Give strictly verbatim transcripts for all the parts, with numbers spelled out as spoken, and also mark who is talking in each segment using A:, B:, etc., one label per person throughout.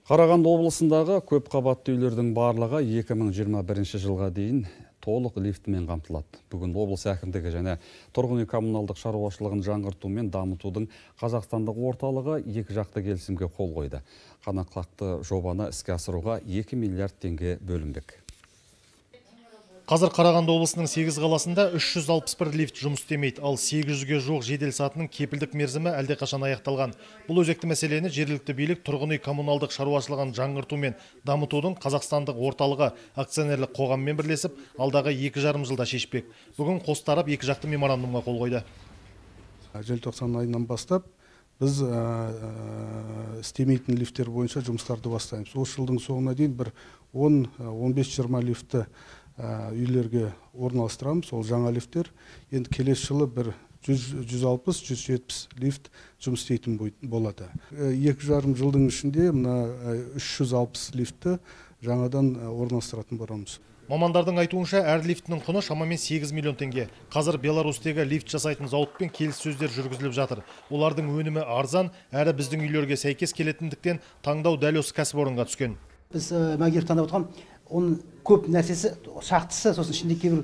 A: Қарағанды облысындағы көп қабатты үйлердің барлығы екі мың жиырма бірінші жылға дейін толық лифтімен қамтылады. Бүгін облыс әкімдігі және тұрғын үй коммуналдық шаруашылығын жаңғырту мен дамытудың Қазақстандық орталығы екі жақты келісімге қол қойды. Қанатқақты жобаны іске асыруға екі миллиард теңге бөлінбек.
B: Қазір Қарағанды облысының сегіз қаласында үш жүз алпыс бір лифт жұмыс істемейді, ал сегіз жүзге жуық жедел сатының кепілдік мерзімі әлдеқашан аяқталған. Бұл өзекті мәселені жергілікті билік тұрғын үй коммуналдық шаруашылығын жаңғырту мен дамытудың Қазақстандық орталығы акционерлік қоғаммен бірлесіп, алдағы екі жарым жылда шешпек. Бүгін қос тарап екі жақты меморандумға қол қойды.
C: Желтоқсан айынан бастап біз істемейтін лифттер бойынша жұмыстарды бастаймыз. Осы жылдың соңына дейін бір он он бес жиырма лифтті үйлерге орналастырамыз, ол жаңа лифттер. Енді келесі жылы бір жүз алпыс жүз жетпіс лифт жұмыс істейтін болады. Екі жарым жылдың ішінде мына үш жүз алпыс лифтті жаңадан орналастыратын боламыз.
B: Мамандардың айтуынша, әр лифтінің құны шамамен сегіз миллион теңге. Қазір Беларусьтегі лифт жасайтын зауытпен келіссөздер жүргізіліп жатыр. Олардың өнімі арзан, әрі біздің үйлерге сәйкес келетіндіктен таңдау дәл осы кәсіпорынға түскен.
D: Біз мәгер таңдап отырған оның көп нәрсесі, шақтысы, сосын ішінде кейбір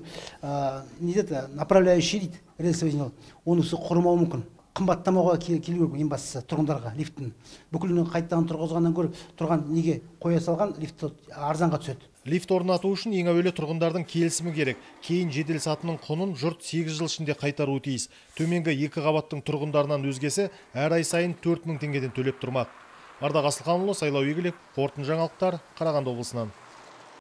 D: не дейді, направляющий дейді, рельсовый, онысы құрымауы мүмкін. Қымбаттамауға келу керек, ең бастысы тұрғындарға лифттің. Бүкілін қайттан тұрғызғаннан көріп, тұрған неге қоя салған лифт арзанға түседі.
B: Лифт орнату үшін ең әуелі тұрғындардың келісімі керек. Кейін жедел сатының құнын жұрт сегіз жыл ішінде қайтаруы тиіс. Төменгі екі қабаттың тұрғындарынан өзгесі әр ай сайын төрт мың теңгеден төлеп тұрмақ. Ардақ Асылханұлы, Сайлау Игілік, қорытынды жаңалықтар, Қарағанды облысынан.